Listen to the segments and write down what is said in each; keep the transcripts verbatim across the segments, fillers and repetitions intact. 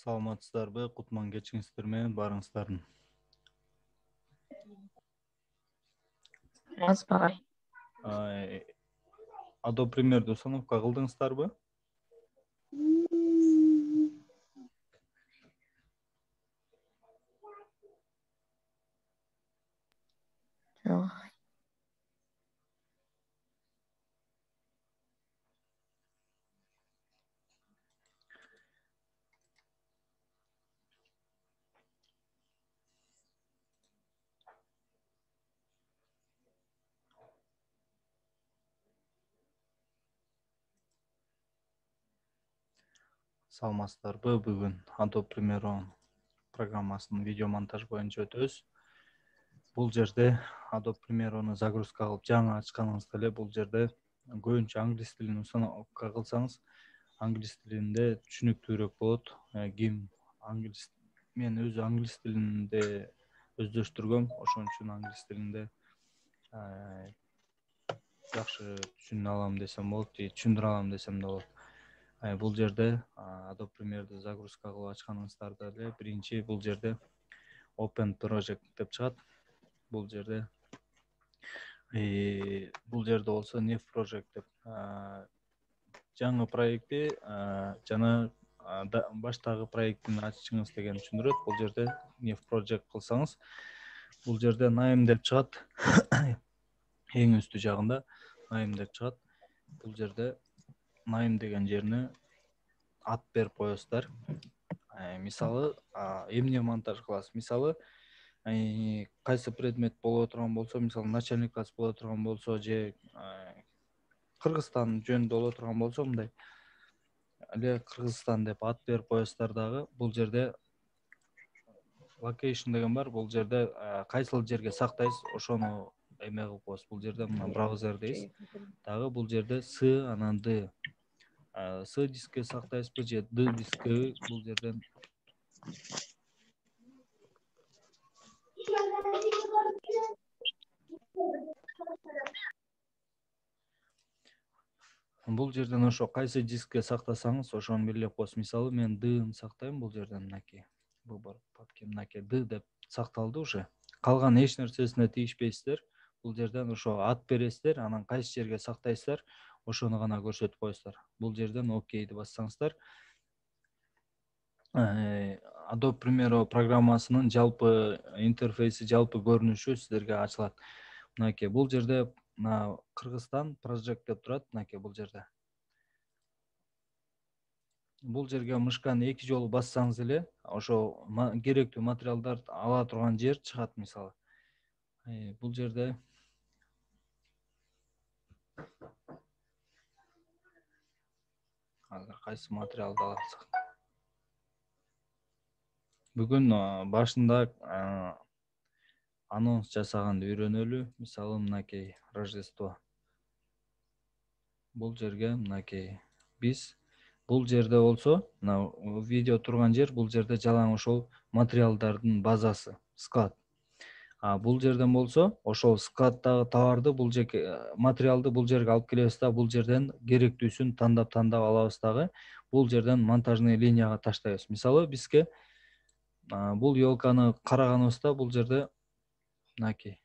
Саламатсыздарбы? Кутман кечиңиздер менен барыңыздардын. Азбагай. Adobe Premiere'ди установка кылдыңыздарбы? Жок. Саламатсыздарбы? Бүгүн Adobe Premiere программасынын видео монтаж боюнча өтөбүз. Бул жерде Adobe Premiere'ни загрузка кылып жаңы ачканыңызда эле бул жерде көбүнчө англис тилин установка кылсаңыз, англис тилинде түшүнүктүүрөөк болот. Ким англис мен өзү англис тилинде өздөштүргөм, ошон үчүн англис тилинде жакшы түшүнө алам десем болот, же түшүндүрө алам десем да болот. Бул жерде Adobe Premiere'ди загрузка кылып ачканыңыздарда эле биринчи бул жерде Open Project деп чыгат. Бул жерде бул жерде болсо New Project деп жаңы проекти жана баштагы проектин ачышыңыз деген түшүндүрөт. Бул жерде New Project кылсаңыз, бул жерде Name деп чыгат. Эң үстү жагында Name деп чыгат. Бул жерде Name деген жерине ат берип коесуздар. Мисалы, эмне монтаж кыласыз? Мисалы, кайсы предмет боло турган болсо, мисалы, начальник класс боло турган болсо, же Кыргызстан жөнүндө боло турган болсо, мындай эле Кыргызстан деп ат берип коесуздар дагы. Бул жерде location деген бар. Бул жерде кайсыл жерге сактайсыз, ошону эме кылып коесуз. Бул жерде мына браузер дейсиз. Дагы бул жерде с, анан d. С дискке сактайсызбы же D дискке, бул жерден бул жерден ошо кайсы дискке сактасаңыз, ошону белгилеп коесуз. Мисалы, мен D-ны сактайм, бул жерден мынакей. Выбор папки мынакей D деп сакталды уже. Калган эч нерсесине тийишпейсиздер. Бул жерден ошо ат бересиздер, анан кайсы жерге сактайсыздар, ошону гана көрсөтүп коесуздар. Бул жерден окейди бассаңыздар, Adobe Premiere программасынын жалпы интерфейси, жалпы көрүнүшү сиздерге ачылат. Мынакей бул жерде мына Кыргызстан project деп турат, мынакей бул жерде. Бул жерге мышканы эки жолу бассаңыз эле, ошо керектүү материалдарды ала турган жер чыгат, мисалы. Бул жерде азыр кайсы материалды алсак. Бүгүн башында анонс жасаганды үйрөнөлү. Мисалы, мынакей Рождество. Бул жерге мынакей биз бул жерде болсо, мына видео турган жер, бул жерде жалаң ошол материалдардын базасы, склад. А бул жерден болсо, ошол складдагы товарды, бул жерге материалды бул жерге алып келебиз да, бул жерден керектүүсүн тандап-тандап алабыз дагы. Бул жерден монтажный линияга таштайбыз. Мисалы, бизге бул ёлканы караганыбызда, бул жерде мынакей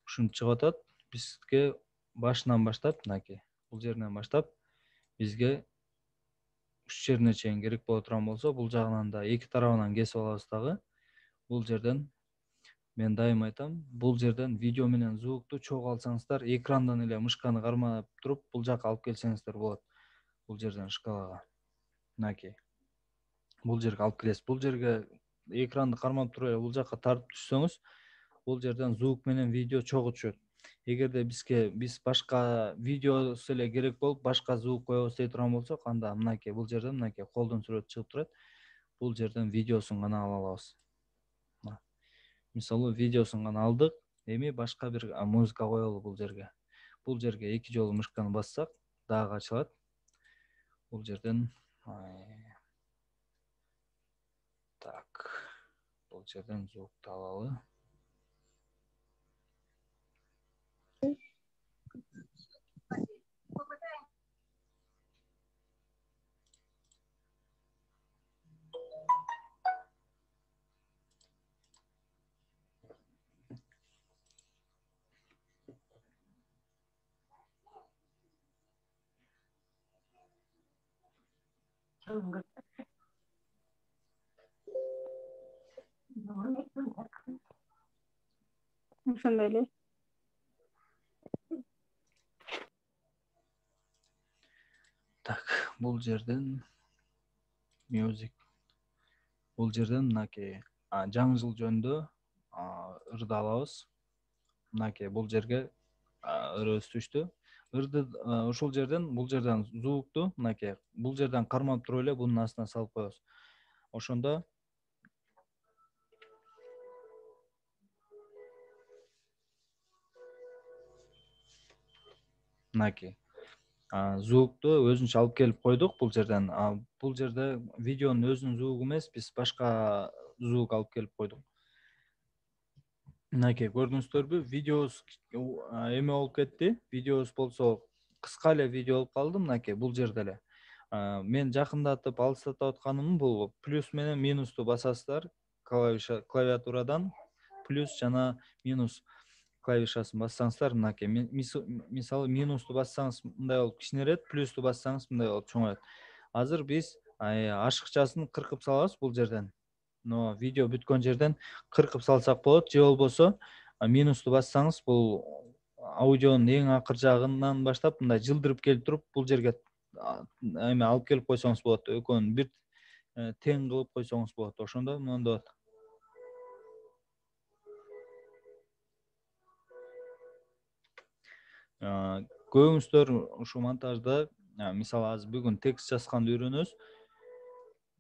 ушинтип чыгып атат. Бизге башынан баштап, мынакей бул жеринен баштап бизге уч жерине чейин керек боло турган болсо, бул жагынан да эки тарабынан кесип алабыз дагы. Бул жерден мен дайым айтам, бул жерден видео менен звукту чогуу алсаңыздар, экрандан эле мышканы кармап туруп, бул жака алып келсеңиздер болот. Бул жерден шкалага. Мынакей. Бул жерге алып келесиз. Бул жерге экранды кармап туруп эле бул жака тартып түшсөңүз, бул жерден звук менен видео чогуу түшөт. Эгерде бизге биз башка видеосу эле керек болуп, башка звук коебуз дей турган болсок, анда мынакей бул жерден мынакей колдун сүрөтү чыгып турат. Бул жерден видеосун гана ала алабыз. Мисалы, видеосун гана алдык, эми башка бир музыка коелу бул жерге. Бул жерге эки жолу мышканы бассак, дагы ачылат. Бул жерден так, бул жерден звукту алалы. Ошондой эле. Так, бул жерден music. Бул жерден мынакей жаңы жыл жөнүндө ырды алабыз. Мынакей бул жерге ырыбыз түштү. Ырды ушул жерден, бул жерден звукту мынакей бул жерден кармап туруп эле бунун астына салып коебуз. Ошондо мынакей звукту өзүнчө алып келип койдук бул жерден. Бул жерде видеонун өзүнүн звугу эмес, биз башка звук алып келип койдук. Мынакей көрдүңүздөрбү? Видеобуз эме болуп кетти. Видеобуз болсо кыска эле видео болуп калды. Мынакей бул жерде эле. Мен жакындатып, алыстатып атканым бул плюс менен минусту басасыздар клавиша клавиатурадан плюс жана минус клавишасын бассаңыздар, мынакей мисалы минусту бассаңыз мындай болуп кичинерет, плюсту бассаңыз мындай болуп чоңойот. Азыр биз ашыкчасын кыркып салабыз бул жерден. Но видео бүткөн жерден кыркып салсак болот, же болбосо минусту бассаңыз бул аудионун эң акыр жагынан баштап мындай жылдырып келип туруп бул жерге эме алып келип койсоңуз болот. Экөөнүн бир тең кылып койсоңуз болот. Ошондо мондой болот. Көбүңүздөр ушу монтажда, мисалы азыр бүгүн текст жазганды үйрөнөбүз.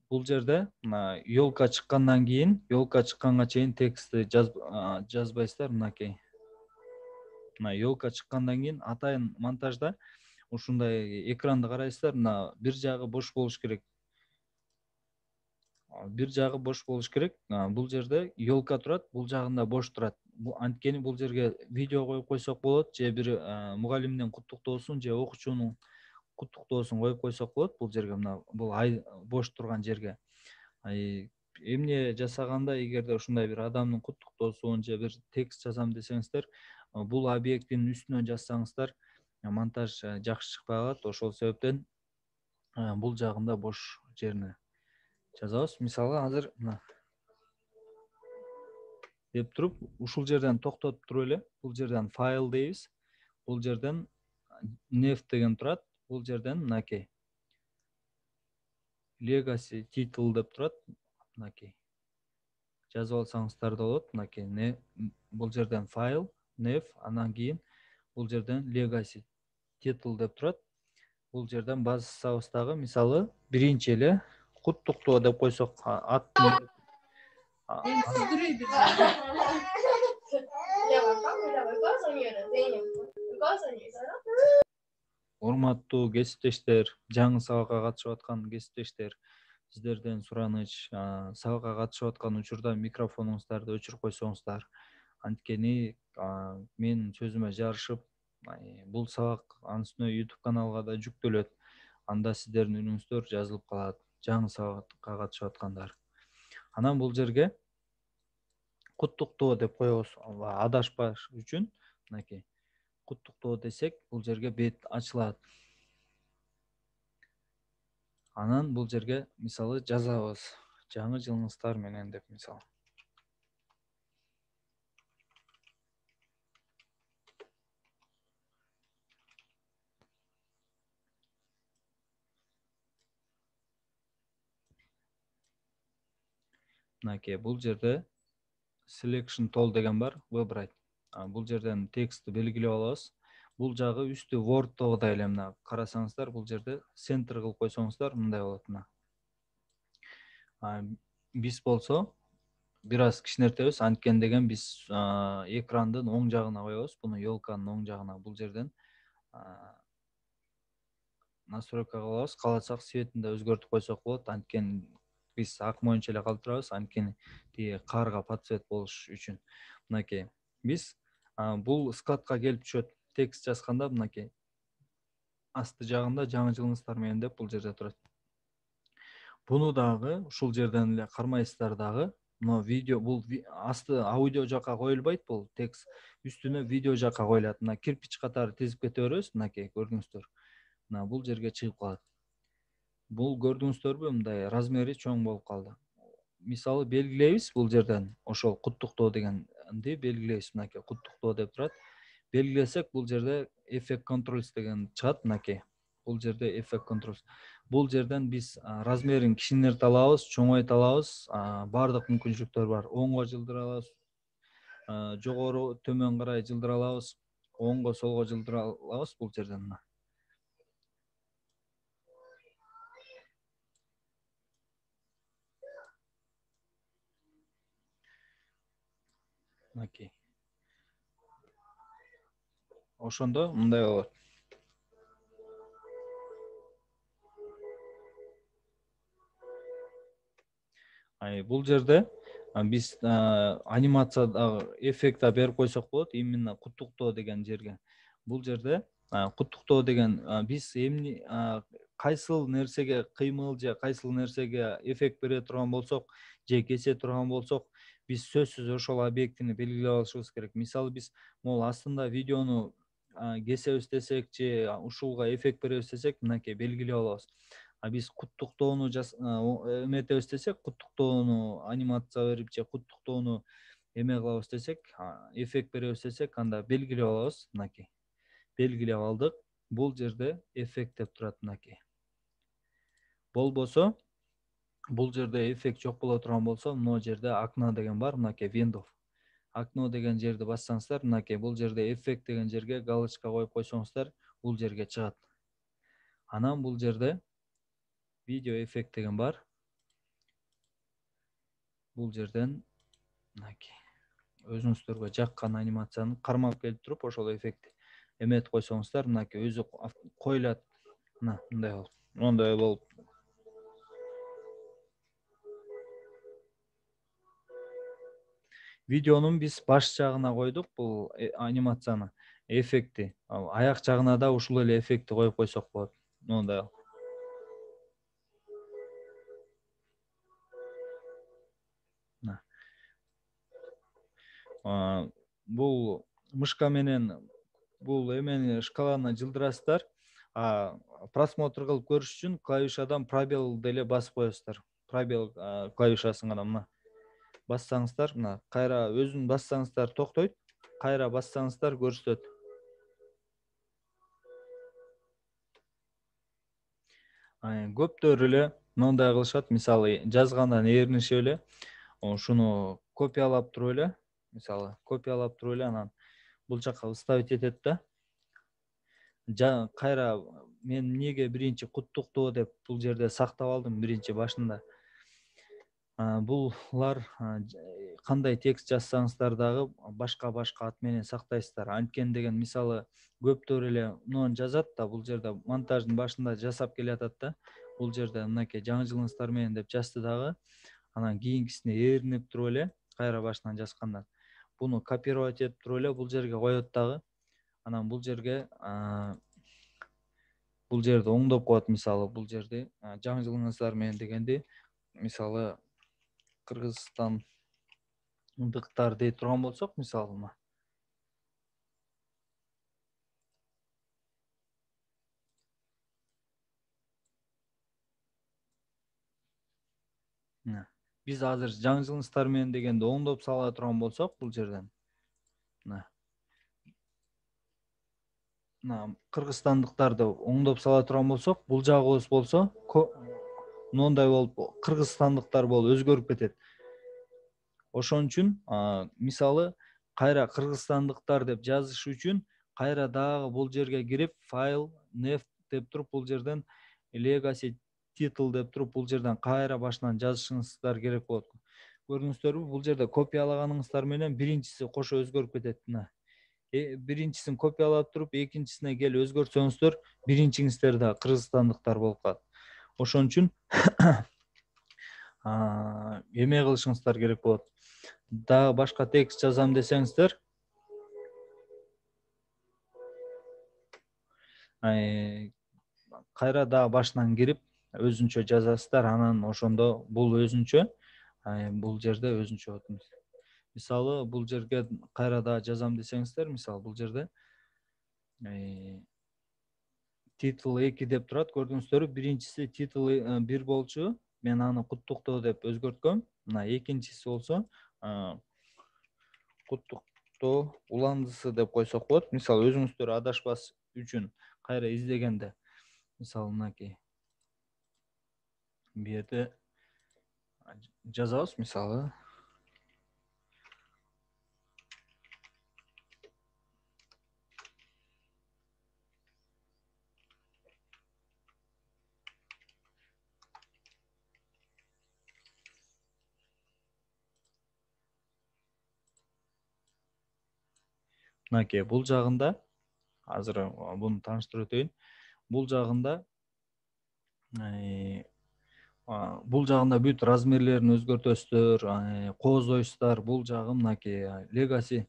Бул жерде мына ёлка чыккандан кийин, ёлка чыкканга чейин текстти жазбайсыздар, мынакей. Мына ёлка чыккандан кийин атайын монтажда ушундай экранды карайсыздар, мына бир жагы бош болуш керек. Бир жагы бош болуш керек. Бул жерде ёлка турат, бул жагында бош турат. Анткени бул жерге видео коюп койсок болот, же бир мугалимдин куттуктоосун, же окуучунун куттуктоосун коюп койсок болот бул жерге, мына бул бош турган жерге. Эмне жасаганда, эгерде ушундай бир адамдын куттуктоосун же бир текст жазам десеңиздер, бул объекттин үстүнө жазсаңыздар, монтаж жакшы чыкпай калат. Ошол себептен бул жагында бош жерине жазабыз. Мисалы азыр мына деп туруп, ушул жерден токтотуп туруп эле, бул жерден файл дейбиз. Бул жерден nef деген турат. Бул жерден мынакей legacy title деп турат. Мынакей жазып алсаңыздар да болот. Мынакей бул жерден файл, nef, андан кийин бул жерден legacy title деп турат. Бул жерден бассабыз дагы, мисалы биринчи эле куттуктоо деп койсок, аттын урматтуу кесиптештер, жаңы сабакка катышып аткан кесиптештер, сиздерден сураныч, сабакка катышып аткан учурда микрофонуңуздарды өчүрүп койсоңуздар. Анткени менин сөзүмө жарышып, бул сабак анын үстүнө YouTube каналга да жүктөлөт. Анда сиздердин үнүңүздөр жазылып калат, жаңы сабакка катышып аткандар. Анан бул жерге куттуктоо деп коебуз, адашпаш үчүн. Мынакей куттуктоо десек, бул жерге бет ачылат. Анан бул жерге мисалы жазабыз, жаңы жылыңыздар менен деп мисалы. Мынакей бул жерде selection tool деген бар, выбрать. Бул жерден текстти белгилеп алабыз. Бул жагы үстү Word'догудай эле, мына карасаңыздар, бул жерде center кылып койсоңуздар мындай болот. Мына биз болсо бир аз кичинертебиз, анткени деген биз экрандын оң жагына коебуз, буну ёлканын оң жагына. Бул жерден настройка кылабыз, кааласак цветин да өзгөртүп койсок болот. Анткени биз ак моюнча эле калтырабыз, анткени тиги карга подцвет болуш үчүн. Мынакей биз бул складка келип түшөт. Текст жазганда мынакей асты жагында жаңы жылыңыздар менен деп бул жерде турат. Буну дагы ушул жерден эле кармайсыздар дагы. Но видео бул асты аудио жака коюлбайт, бул текст үстүнө видео жака коюлат. Мына кирпич катары тизип кете беребиз, мынакей көрдүңүздөр. Мына бул жерге чыгып калат. Бул көрдүңүздөрбү, мындай размери чоң болуп калды. Мисалы белгилейбиз бул жерден ошол куттуктоо дегенди белгилейбиз. Мынакей куттуктоо деп турат. Белгилесек бул жерде effect controls деген чыгат. Мынакей бул жерде effect controls. Бул жерден биз размерин кичинерте алабыз, чоңойто алабыз. Баардык мүмкүнчүлүктөр бар. Оңго жылдыра алабыз, жогору төмөн карай жылдыра алабыз, оңго солго жылдыра алабыз бул жерден. Мына мынакей ошондо мындай болот. Бул жерде биз анимациядагы эффект берип койсок болот, именно куттуктоо деген жерге. Бул жерде куттуктоо деген биз эмне кайсыл нерсеге кыймыл же кайсыл нерсеге эффект бере турган болсок, же кесе турган болсок, биз сөзсүз ошол объектини белгилеп алышыбыз керек. Мисалы биз могул астында видеону кесебиз десек же ушулга эффект беребиз десек, мынакей белгилеп алабыз. А биз куттуктоону эметебиз десек, куттуктоону анимация берип же куттуктоону эме кылабыз десек, эффект беребиз десек, анда белгилеп алабыз. Мынакей белгилеп алдык. Бул жерде эффект деп турат. Мынакей болбосо, бул жерде эффект жок боло турган болсо, мына жерде окно деген бар. Мынакей window окно деген жерди бассаңыздар, мынакей бул жерде эффект деген жерге галочка коюп койсоңуздар, бул жерге чыгат. Анан бул жерде видео эффект деген бар. Бул жерден мынакей өзүңүздөргө жаккан анимацияны кармап келип туруп, ошол эффектти эметип койсоңуздар, мынакей өзү коюлат. Мына мындай болуп, моундай болуп. Видеонун биз баш жагына койдук бул анимацияны, эффектти. Аяк жагына да ушул эле эффектти коюп койсок болот. Моундай. Бул мышка менен бул эмени шкаланы жылдырасыздар. Просмотр кылып көрүш үчүн клавишадан пробел деле басып коесуздар. Пробел клавишасын гана мына бассаңыздар, мына кайра өзүн бассаңыздар токтойт, кайра бассаңыздар көрсөтөт. Көптөр эле мындай кылышат, мисалы жазгандан ээринишип эле ушуну копиялап туруп эле, мисалы копиялап туруп эле анан бул жака вставить этет да. Кайра мен эмнеге биринчи куттуктоо деп бул жерде сактап алдым биринчи башында. Булар кандай текст жазсаңыздар дагы башка-башка ат менен сактайсыздар. Анткени деген мисалы көптөр эле муну жазат да, бул жерде монтаждын башында жасап келатат да. Бул жерде мынакей жаңы жылыңыздар менен деп жазды дагы. Анан кийинкисине ээринип туруп эле кайра башынан жазгандан буну копировать этип туруп эле бул жерге коет дагы. Анан бул жерге бул жерди оңдоп коет. Мисалы бул жерди жаңы жылыңыздар менен дегенди мисалы кыргызстандыктар дей турган болсок, мисалы мына биз азыр жаңы жылыңыздар менен дегенди оңдоп сала турган болсок, бул жерден мына мына кыргызстандыктарды оңдоп сала турган болсок, бул жагыбыз болсо моундай болуп кыргызстандыктар болуп өзгөрүп кетет. Ошон үчүн мисалы кайра кыргызстандыктар деп жазыш үчүн кайра дагы бул жерге кирип файл neft деп туруп бул жерден legacy title деп туруп бул жерден кайра башынан жазышыңыздар керек болот. Көрдүңүздөрбү, бул жерде копиялаганыңыздар менен биринчиси кошо өзгөрүп кетет. Мына биринчисин копиялап туруп экинчисине келип өзгөртсөңүздөр, биринчиңиздер да кыргызстандыктар болуп калат. Ошон үчүн эме кылышыңыздар керек болот. Дагы башка текст жазам десеңиздер, кайра дагы башынан кирип өзүнчө жазасыздар. Анан ошондо бул өзүнчө, бул жерде өзүнчө болот. Мисалы бул жерге кайра дагы жазам десеңиздер, мисалы бул жерде титул эки деп турат. Көрдүңүздөрбү? Биринчиси титул бир болчу. Мен аны куттуктоо деп өзгөрткөм. Мына экинчиси болсо куттуктоо уландысы деп койсок болот. Мисалы, өзүңүздөр адашпас үчүн кайра издегенде, мисалы, мынакей бу жерде жазабыз, мисалы, мынакей бул жагында, азыр буну тааныштырып өтөйүн. Бул жагында бул жагында бүт размерлерин өзгөртөсүздөр, кооздойсуздар. Бул жагы мынакей Legacy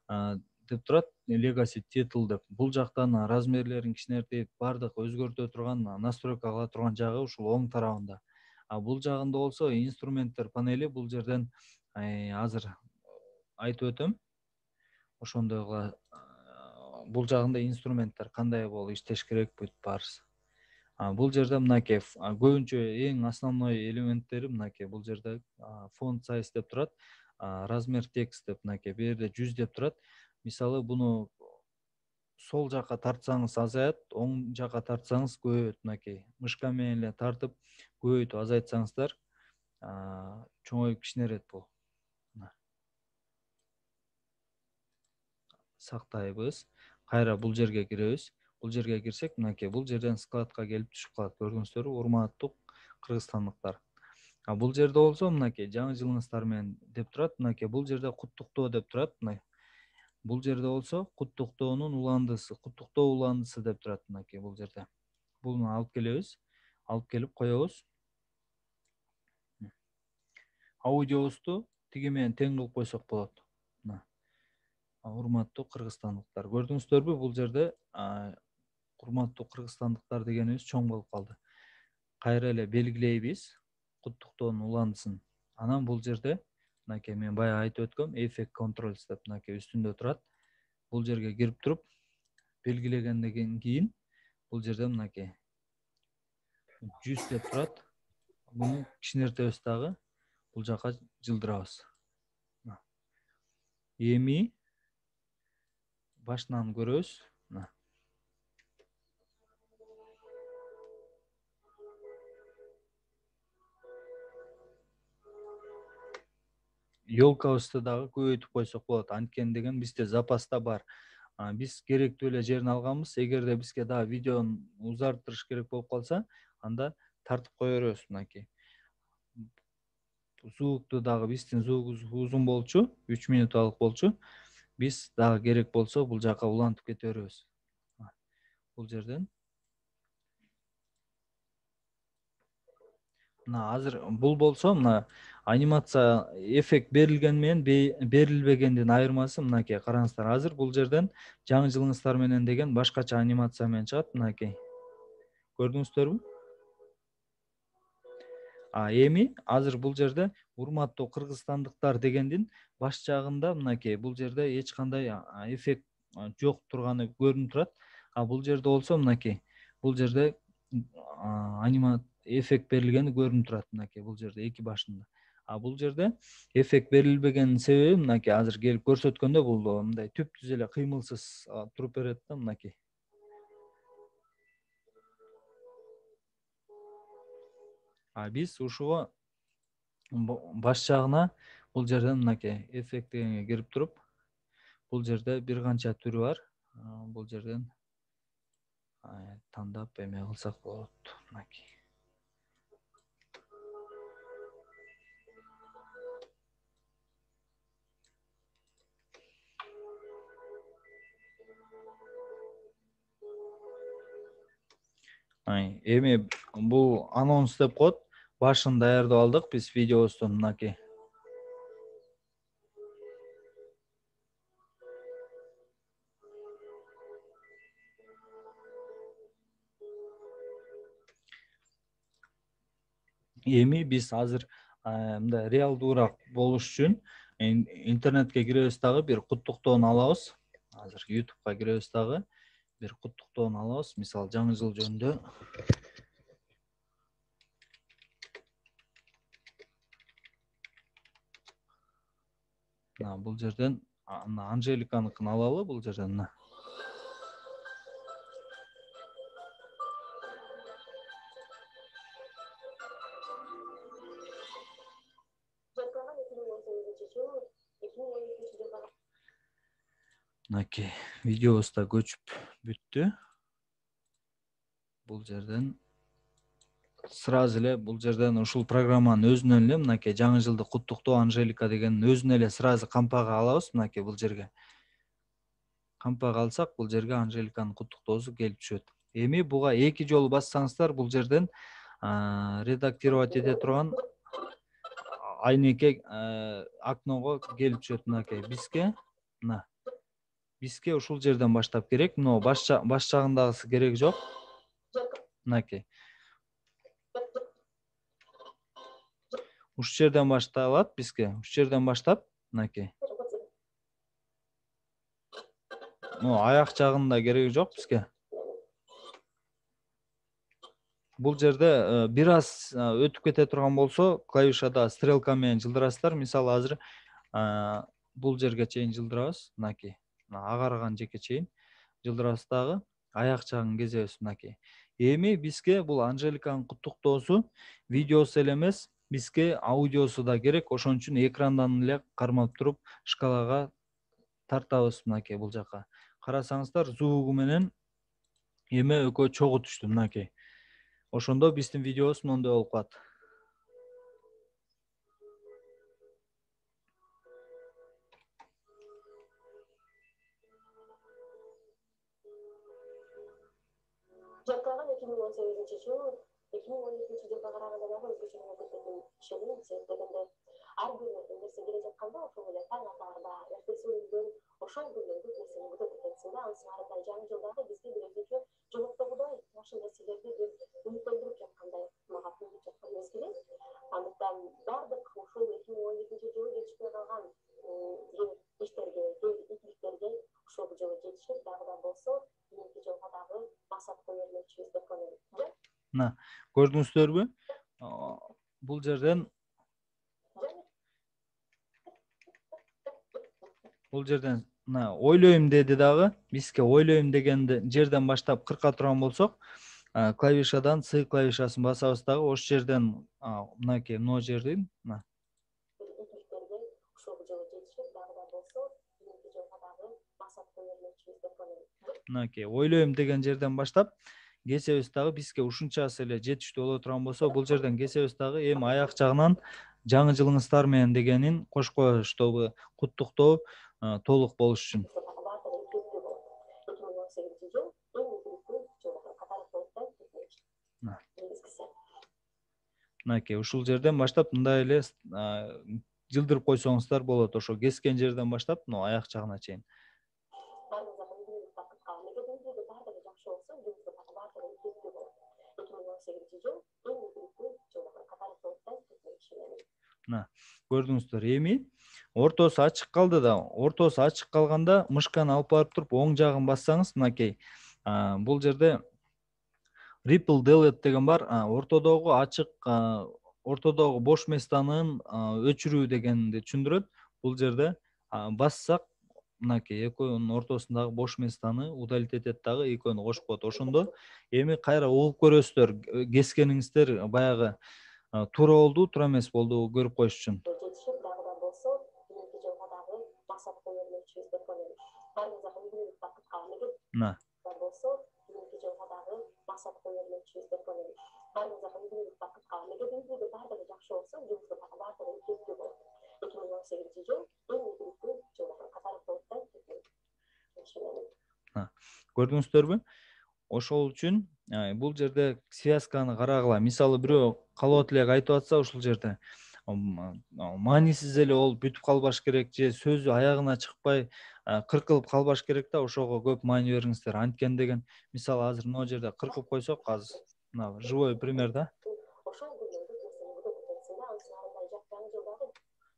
деп турат, Legacy Title деп. Бул жактан размерлерин кичинертип, бардык өзгөртө турган, настройка кыла турган жагы ушул оң тарабында. А бул жагында болсо инструменттер панели. Бул жерден азыр айтып өтөм. Ошондой кыла, бул жагында инструменттер кандай болуп иштеш керек, бүт баарысы. Бул жерде мынакей көбүнчө эң основной элементтери мынакей бул жерде font size деп турат, размер текст деп мынакей бу жерде жүз деп турат. Мисалы, буну сол жакка тартсаңыз азаят, оң жакка тартсаңыз көбөйөт. Мынакей мышка менен эле тартып көбөйтүп азайтсаңыздар чоңоюп кичинерет бул. Сактайбыз. Кайра бул жерге киребиз. Бул жерге кирсек, мынакей бул жерден складка келип түшүп калат. Көрдүңүздөрбү, урматтуу кыргызстандыктар. А бул жерде болсо мынакей жаңы жылыңыздар менен деп турат. Мынакей бул жерде куттуктоо деп турат. Бул жерде болсо куттуктоонун уландысы, куттуктоо уландысы деп турат мынакей бул жерде. Буну алып келебиз. Алып келип коебуз. Аудиобузду тиги менен тең кылып койсок болот. Урматтуу кыргызстандыктар, көрдүңүздөрбү, бул жерде урматтуу кыргызстандыктар дегенибиз чоң болуп калды. Кайра эле белгилейбиз куттуктоонун уландысын. Анан бул жерде мынакей мен баягы айтып өткөм, Effect Controls деп мынакей үстүндө турат. Бул жерге кирип туруп белгилегенден кийин бул жерде мынакей жүз деп турат. Буну кичинертебиз дагы, бул жака жылдырабыз. Эми башынан көрөбүз. Ёлкабызды дагы көбөйтүп койсок болот. Анткени деген бизде запаста бар. Биз керектүү эле жерин алганбыз. Эгерде бизге дагы видеону узартырыш керек болуп калса, анда тартып кое беребиз мынакей. Звукту дагы биздин звугубуз узун болчу, үч минуталык болчу. Биз дагы керек болсо бул жака улантып кете беребиз. Бул жерден. Мына азыр бул болсо, мына анимация эффект берилген менен берилбегендин айырмасы мынакей, караңыздар. Азыр бул жерден жаңы жылыңыздар менен деген башкача анимация менен чыгат мынакей. Көрдүңүздөрбү? А эми азыр бул жерде урматтуу кыргызстандыктар дегендин баш жагында мынакей бул жерде эч кандай эффект жок турганы көрүнүп турат. А бул жерде болсо мынакей бул жерде анимация эффект берилгени көрүнүп турат мынакей бул жерде эки башында. А бул жерде эффект берилбегенин себеби мынакей азыр келип көрсөткөндө бул мындай түп-түз эле кыймылсыз туруп берет да мынакей. А биз ушуга баш жагына бул жерден мынакей эффект дегенге кирип туруп, бул жерде бир канча түрү бар. Бул жерден тандап эме кылсак болот мынакей. Эми бул анонс деп коет. Башын даярдап алдык биз видеобуздун мынакей. Эми биз азыр мындай реалдуураак болуш үчүн интернетке киребиз дагы бир куттуктоону алабыз. Азыр YouTubeга киребиз дагы. бир куттуктоону алабыз. Мисалы жаңы жыл жөнүндө. Мына бул жерден Анжеликаныкын алалы бул жерден. Мына. Мынакей видеобуз да көчүп бүттү. Бул жерден сразу эле бул жерден ушул программанын өзүнөн эле мынакей жаңы жылды куттуктоо Анжелика деген өзүнө эле сразу кампага алабыз. Мынакей бул жерге кампага алсак, бул жерге Анжеликанын куттуктоосу келип түшөт. Эми буга эки жолу бассаңыздар бул жерден редактировать эте турган айнекей окного келип түшөт. Мынакей бизге мына бизге ушул жерден баштап керек. Мына баш баш жагындагысы керек жок. Мынакей ушул жерден башталат бизге. Ушул жерден баштап мынакей. Ну, аяк жагында кереги жок бизге. Бул жерде бир аз өтүп кете турган болсо, клавишада стрелка менен жылдырасыздар. Мисалы азыр бул жерге чейин жылдырабыз. Мынакей. Агарган жеке чейин жылдырабыз дагы. Аяк жагын кезебиз мынакей. Эми бизге бул Анжеликанын куттуктоосу видеосу эле эмес, бизге аудиосу да керек. Ошон үчүн экрандан эле кармап туруп шкалага тартабыз мынакей бул жака. Карасаңыздар, звугу менен эме экөө чогуу түштү мынакей. Ошондо биздин видеобуз мондой болуп калат. Жактаган эки миң он сегизинчи жыл эки миң он экинчи жылга караганда дагы өзгөчө кеткен ишенем. Себеп дегенде ар бир нерсе келе жатканда ошол эле таң атаарда, эртеси менен ошол күндө бүт нерсени күтүп кетсин да. Анысы аркылуу жаңы жылдагы бизге бир өзгөчө жогоктогудай жакшы нерселерди бир үмүттөндүрүп жаткандай мага туюлуп жаткан мезгили. Андыктан бардык ошол эки миң он экинчи жылы жетишпей калган иштерге, ийгиликтерге ошол жылы жетишип, дагы да болсо кийинки жылга дагы максат кое бермекчибиз деп ойлойм. Мына, көрдүңүздөрбү? Бул жерден Бул жерден мына ойлойм деди дагы. Бизге ойлойм деген жерден баштап кырка турган болсок, клавишадан C клавишасын басабыз дагы. Ошол жерден мынакей мына жерден мына мынакей ойлойм деген жерден баштап кесебиз дагы. Бизге ушунчасы эле жетиштүү боло турган болсо, бул жерден кесебиз дагы. Эми аяк жагынан жаңы жылыңыздар менен дегенин кошуп коебуз, чтобы куттуктоо толук болуш үчүн. Мынакей ушул жерден баштап мындай эле жылдырып койсоңуздар болот. Ошо кескен жерден баштап мына аяк жагына чейин. Мына, көрдүңүздөр. Эми ортосу ачык калды да. Ортосу ачык калганда мышканы алып барып туруп оң жагын бассаңыз, мынакей бул жерде Ripple Delete деген бар. Ортодогу ачык, ортодогу бош местанын өчүрүү дегенди түшүндүрөт. Бул жерде бассак, мынакей экөөнүн ортосундагы бош местаны удалить этет дагы, экөөнү кошуп коет. Ошондо эми кайра угуп көрөсүздөр. Кескениңиздер баягы туура болду, туура эмес болду көрүп коюш үчүн. Мына. Көрдүңүздөрбү? Ошол үчүн бул жерде связканы карагыла. Мисалы бирөө калп элек айтып атса ушул жерде маанисиз эле болуп бүтүп калбаш керек же сөзү аягына чыкпай кыркылып калбаш керек да, ошого көп маани бериңиздер. Анткени деген мисалы азыр мына жерде кыркып койсок, азыр мына живой пример да.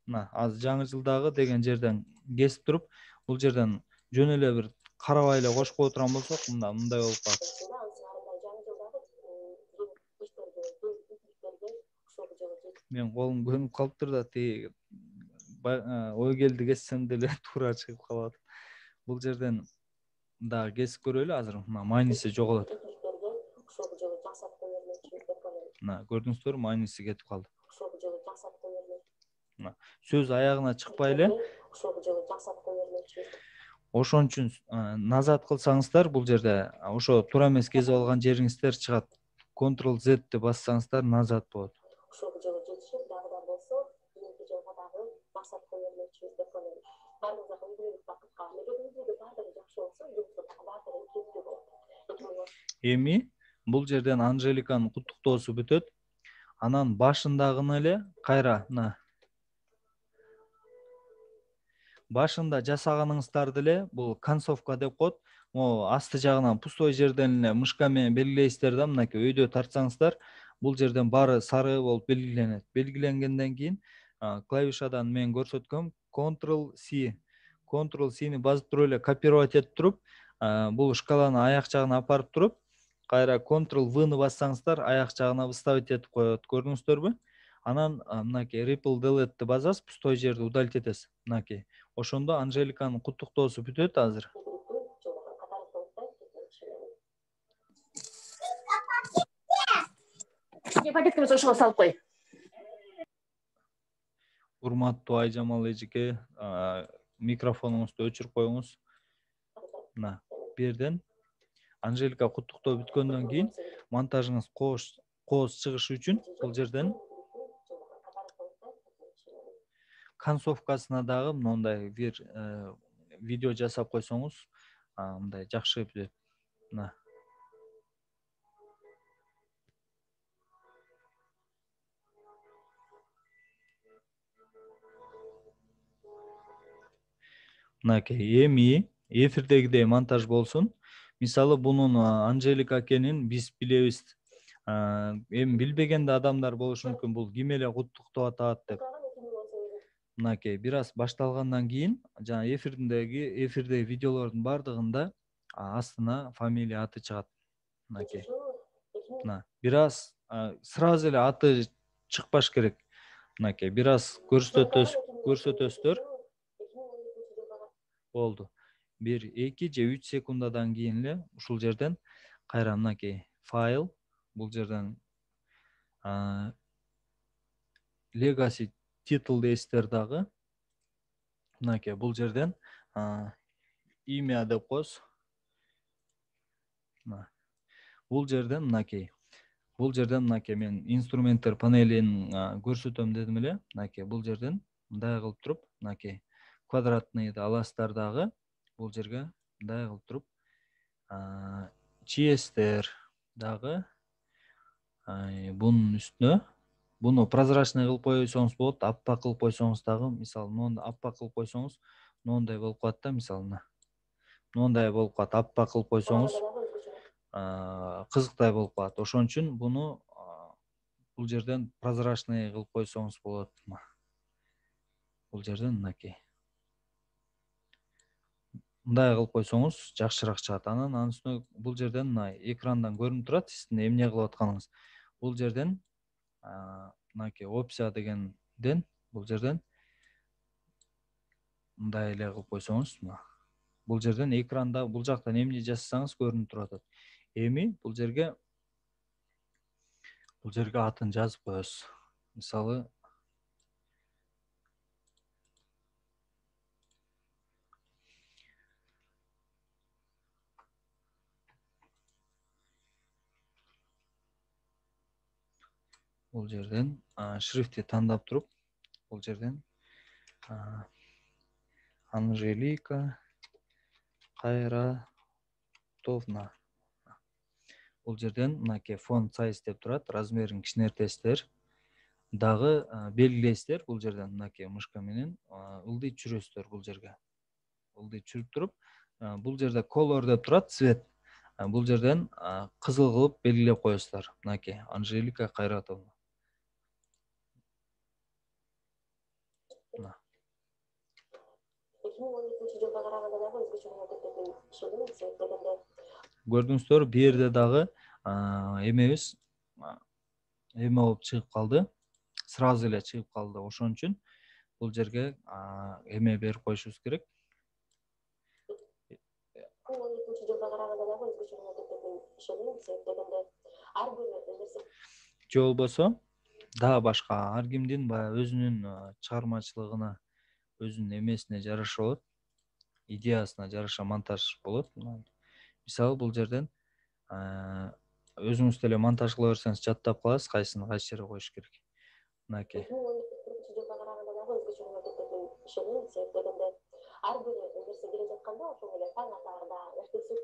Мына азыр жаңы жылдагы деген жерден кесип туруп, бул жерден жөн эле бир карабай эле кошуп кое турган болсок, мында мындай болуп калат. Мен колум көнүп калыптыр да, тиги ой келди кессем деле туура чыгып калат. Бул жерден дагы кесип көрөлү азыр. Мына майниси жоголот. Мына көрдүңүздөрбү, майниси кетип калды. Мына сөз аягына чыкпай эле. Ошон үчүн назад кылсаңыздар, бул жерде ошо туура эмес кесип алган жериңиздер чыгат. контрол зетти бассаңыздар назад болот. Ошол жолу жетишип дагы да болсо, кийинки жолго дагы максатка бермекчибиз деп ойлойм. Баарыңызга ийгилик бакытка. Эгер үйдөгү баардыгы жакшы болсо, жумуштагы баардыгы кепти болот. Эми бул жерден Анжеликанын куттуктоосу бүтөт. Анан башындагыны эле кайра мына башында жасаганыңыздарды эле бул концовка деп коет. Могу асты жагынан пустой жерден эле мышка менен белгилейсиздер да, мынакей өйдө тартсаңыздар, бул жерден баары сары болуп белгиленет. Белгиленгенден кийин клавишадан мен көрсөткөм контрол си. контрол сини басып туруп эле копировать этип туруп, бул шкаланы аяк жагына апарып туруп, кайра контрол вны бассаңыздар, аяк жагына выставить этип коет. Көрдүңүздөрбү? Анан мынакей Ripple Delete'ти басасыз, пустой жерди удалить этесиз. Мынакей. Ошондо Анжеликанын куттуктоосу бүтөт азыр. Пакетке ошого салып кой. Урматтуу Айжамал эжеке, микрофонуңузду өчүрүп коюңуз. Мына, бу жерден Анжелика куттуктоо бүткөндөн кийин монтажыңыз кооз чыгышы үчүн бул жерден концовкасына дагы мындай бир видео жасап койсоңуз, мындай жакшы бүтөт. Мына. Мынакей, эми эфирдегидей монтаж болсун. Мисалы, бунун Анжелика экенин биз билебиз. Эми билбеген да адамдар болушу мүмкүн, бул ким эле куттуктап атат деп. Мынакей, бир аз башталгандан кийин, жана эфирдеги эфирдеги видеолордун бардыгында астына фамилия аты чыгат. Мынакей. Мына, бир аз сразу эле аты чыкпаш керек. Мынакей, бир аз көрсөтөс, көрсөтөсүздөр. Болду. бир, эки же үч секундадан кийин эле ушул жерден кайра мынакей файл, бул жерден legacy title дейсиздер дагы. Мынакей, бул жерден имя деп коесуз. Бул жерден мынакей. Бул жерден мынакей мен инструменттер панелин көрсөтөм дедим эле. Мынакей, бул жерден мындай кылып туруп, мынакей квадратныйды аласыздар дагы. Бул жерге мындай кылып туруп, чиестер дагы бунун үстүнө. Буну прозрачный кылып койсоңуз болот, аппак кылып койсоңуз дагы, мисалы, мону аппак кылып койсоңуз, моундай болуп калат да, мисалы. Моундай болуп калат, аппак кылып койсоңуз, кызыктай болуп калат. Ошон үчүн буну бул жерден прозрачный кылып койсоңуз болот. Бул жерден мынакей. Мындай кылып койсоңуз жакшыраак чыгат. Анан анын үстүнө бул жерден мына экрандан көрүнүп турат сиздин эмне кылып атканыңыз. Бул жерден мынакей опция дегенден бул жерден мындай эле кылып койсоңуз, бул жерден экранда бул жактан эмне жасасаңыз көрүнүп турат. Эми бул жерге бул жерге атын жазып коесуз. Мисалы, бул жерден шрифти тандап туруп, бул жерден Анжелика Кайратовна. Бул жерден мынакей фон сайз деп турат, размерин кичинертесиздер. Дагы белгилейсиздер бул жерден мынакей мышка менен ылдый түшүрөсүздөр бул жерге. Ылдый түшүрүп туруп, бул жерде color деп турат, цвет. Бул жерден кызыл кылып белгилеп коесуздар. Мынакей Анжелика Кайратовна. эки миң он экинчи жылга караганда дагы өзгөчө болуп кетет. ишенем себеп Көрдүңүздөр, бул жерде дагы эмебиз эме болуп чыгып калды. Сразу эле чыгып калды. Ошон үчүн бул жерге эме берип коюшубуз керек. он экинчи жылга караганда дагы өзгөчөрөөк кететине ишенем себеп дегенде ар бир нерсе Же болбосо дагы башка ар кимдин баягы өзүнүн чыгармачылыгына, өзүнүн эмесине жараша болот, идеясына жараша монтаж болот. Мисалы бул жерден өзүңүз деле монтаж кыла берсеңиз жаттап каласыз, кайсыны кайсы жерге коюш керек. Мынакей. он экинчи жылга караганда дагы өзгөчөрөөк кететине ишенем себеп дегенде ар бир нерсе келе жатканда ошол эле таң атаарда эртеси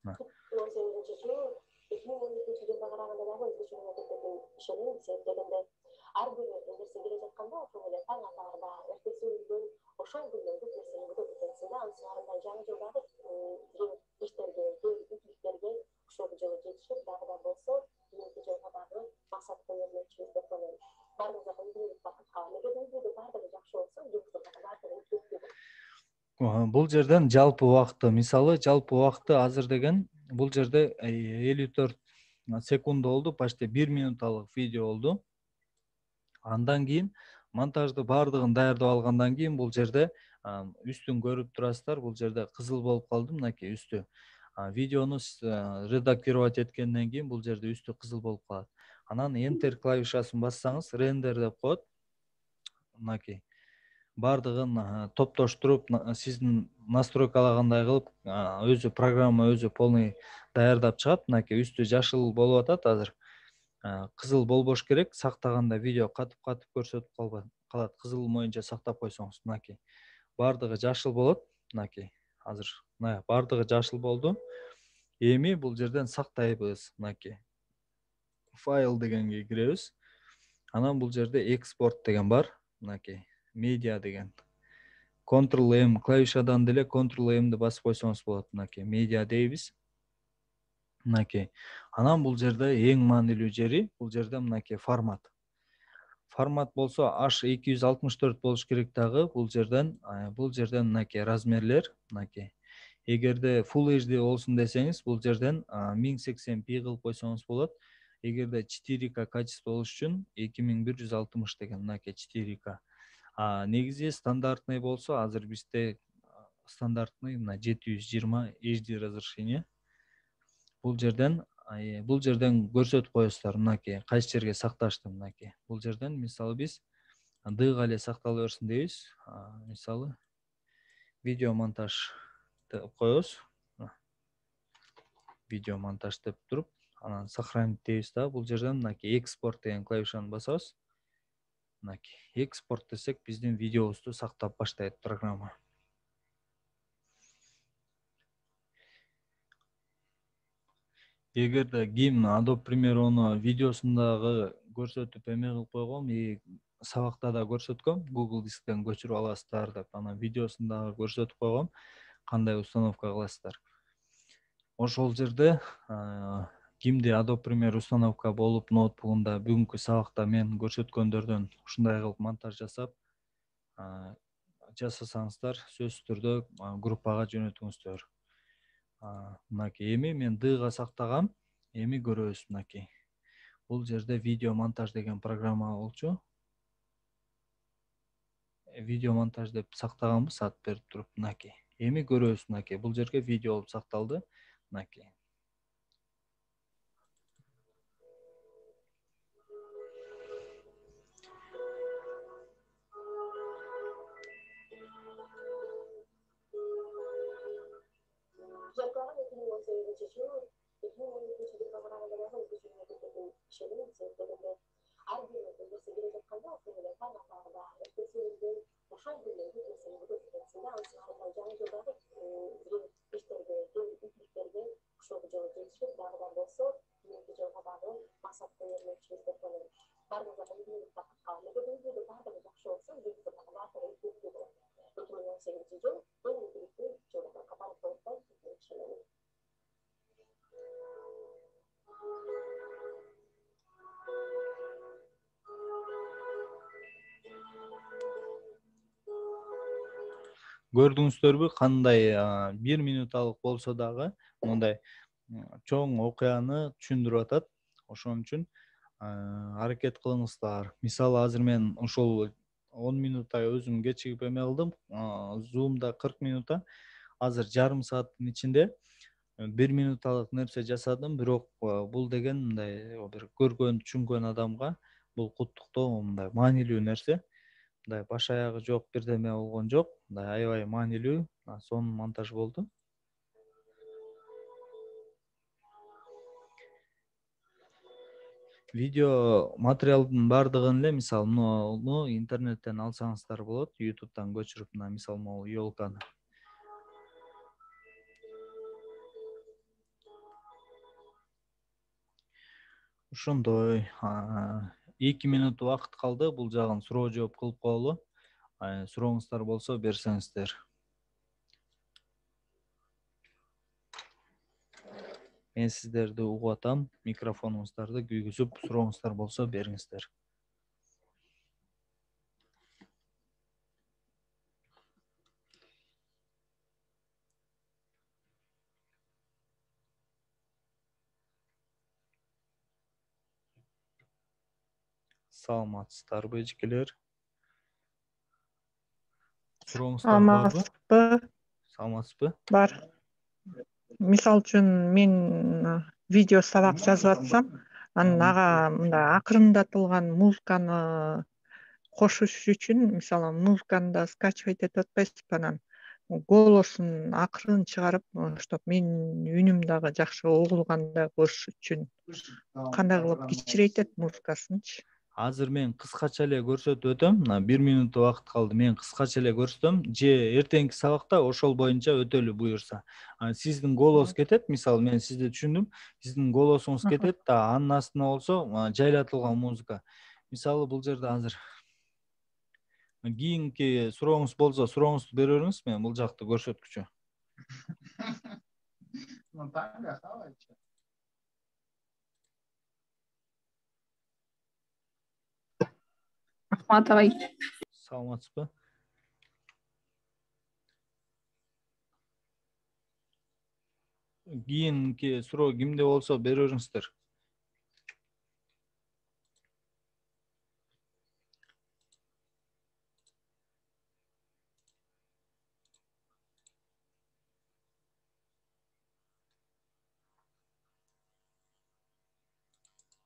он сегизинчи жыл эки миң он экинчи жылга караганда дагы өзгөчөрөөк кететине ишенем себеп дегенде ар бир нерсе келе жатканда ошол эле таң атаарда эртеси күндөн ошол күндөн көп нерсени күтөт экенсиң да. Анын сыртында жаңы жылдагы иштерге, үчүлүктөргө ошол жылы жетишип дагы да болсо кийинки жылга дагы максат кое бермекчибиз деп ойлойм. Баарыбызга үйдүк бакытка, мектебибизде баардыгы жакшы болсо, жумушубузда баардыгы үчүлүктүү. Бул жерден жалпы убакыты, мисалы жалпы убакыты азыр деген бул жерде элүү төрт секунд болду, почти бир минуталык видео болду. Андан кийин монтажды баардыгын даярдап алгандан кийин бул жерде үстүн көрүп турасыздар, бул жерде кызыл болуп калды, мынакей үстү. Видеону редактировать эткенден кийин бул жерде үстү кызыл болуп калат. Анан Enter клавишасын бассаңыз, render деп коет. Мынакей. Баардыгын топтоштуруп, сиздин настройкалагандай кылып, өзү программа өзү полный даярдап чыгат. Мынакей үстү жашыл болуп атат азыр. Кызыл болбош керек, сактаганда видео катып-катып көрсөтүп калат. Кызыл боюнча сактап койсоңуз, мынакей. Баардыгы жашыл болот, мынакей. Азыр мына баардыгы жашыл болду. Эми бул жерден сактайбыз, мынакей. Файл дегенге киребиз. Анан бул жерде экспорт деген бар, мынакей. Медиа деген. контрол эм клавишадан деле контрол эмди басып койсоңуз болот, мынакей. Медиа дейбиз. Мынакей. Анан бул жерде эң маанилүү жери, бул жерде мынакей формат. Формат болсо H эки жүз алтымыш төрт болуш керек дагы, бул жерден, бул жерден мынакей размерлер, мынакей. Эгерде Full эйч ди болсун десеңиз, бул жерден миң сексен пи кылып койсоңуз болот. Эгерде четыре ка качество болуш үчүн эки миң бир жүз алтымыш деген, мынакей четыре ка. А негизи стандартный болсо, азыр бизде стандартный мына жети жүз жыйырма эйч ди разрешение. Бул жерден, бул жерден көрсөтүп коесуздар, мынакей, кайсы жерге сакташты, мынакей. Бул жерден мисалы биз дыга эле сактала берсин дейбиз. Мисалы видео монтаж деп коебуз. Видео монтаж деп туруп, анан сохранить дейбиз да. Бул жерден мынакей экспорт деген клавишаны басабыз. Мынакей, экспорт десек, биздин видеобузду сактап баштайт программа. Эгерде ким Adobe Premiere'ну видеосундагы көрсөтүп эме кылып койгом, и сабакта да көрсөткөм, Google Дисктен көчүрүп аласыздар деп, анан видеосундагы көрсөтүп койгом, кандай установка кыласыздар. Ошол жерде кимди Adobe Premiere установка болуп ноутбугунда бүгүнкү сабакта мен көрсөткөндөрдөн ушундай кылып монтаж жасап жасасаңыздар, сөзсүз түрдө группага жөнөтүңүздөр. Мынакей, эми мен дыга сактагам, эми көрөбүз, мынакей. Бул жерде видео монтаж деген программа болчу. Видео монтаж деп сактаганбыз, ат берип туруп, мынакей. Эми көрөбүз, мынакей. Бул жерге видео болуп сакталды, мынакей. Жактаган эки миң он сегизинчи жыл, эки миң он экинчи жылга караганда дагы өзгөчөрөөк кететине ишенем себеп дегенде ар бир нерсе келе жатканда ошол эле таң атаарда эртеси күндөн ошол күндөн көп нерсени күтөт экенсиң да. Анын сыртында жаңы жылдагы иштерге, үчүлүктөргө ошол жылы жетишип дагы да болсо, кийинки жылга дагы максат кое бермекчибиз деп ойлойм. Баарыбызга үйдүк бакытка, мектебибизде баардыгы жакшы болсо, жумушубузда баардыгы үчүлүктүү болот. эки миң он сегизинчи жыл эң ийгиликтүү жыл деп аталып коет деп ишенем. көрдүңүздөрбү кандай бир минуталык болсо дагы мындай чоң окуяны түшүндүрүп атат. Ошон үчүн аракет кылыңыздар. Мисалы азыр мен ушул он минутта өзүм кечигип эме кылдым. Zoom'да кырк минутта. Азыр жарым сааттын ичинде бир минуталык нерсе жасадым. Бирок бул деген мындай бир көргөн, түшүнгөн адамга бул куттуктоо мындай маанилүү нерсе. Мындай баш аягы жок бирдеме болгон жок. Мындай аябай маанилүү сонун монтаж болду. Видео материалдын бардыгын эле мисалы муну интернеттен алсаңыздар болот, YouTube'дан көчүрүп, мына мисалы могу ёлканы. Ошондой эки минут убакыт калды. Бул жагын суроо жооп кылып коелу. Сурооңуздар болсо берсеңиздер. Мен сиздерди угуп атам. Микрофонуңуздарды күйгүзүп, сурооңуздар болсо бериңиздер. Саламатсыздарбы, эжекелер? Сурооңуздар барбы? Саламатсызбы? Саламатсызбы? Бар. Мисал үчүн мен видео сабак жазып атсам, анан ага мындай акырындатылган музыканы кошуш үчүн, мисалы музыканы да скачивать этип атпайсызбы, анан голосун акырын чыгарып, чтоб менин үнүм дагы жакшы угулгандай кылыш үчүн кандай кылып кичирейтет музыкасынчы? Азыр мен кыскача эле көрсөтүп өтөм. Мына бир минут убакыт калды. Мен кыскача эле көрсөтөм. Же эртеңки сабакта ошол боюнча өтөлү буюрса. Сиздин голос кетет, мисалы мен сизди түшүндүм. Сиздин голосуңуз кетет да, анын астына болсо жайлатылган музыка. Мисалы бул жерде азыр кийинки сурооңуз болсо, сурооңузду бере бериңиз, мен бул жакты көрсөткүчү. Ахмат агай. Саламатсызбы? Кийинки суроо кимде болсо бере бериңиздер.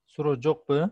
Суроо жокпу?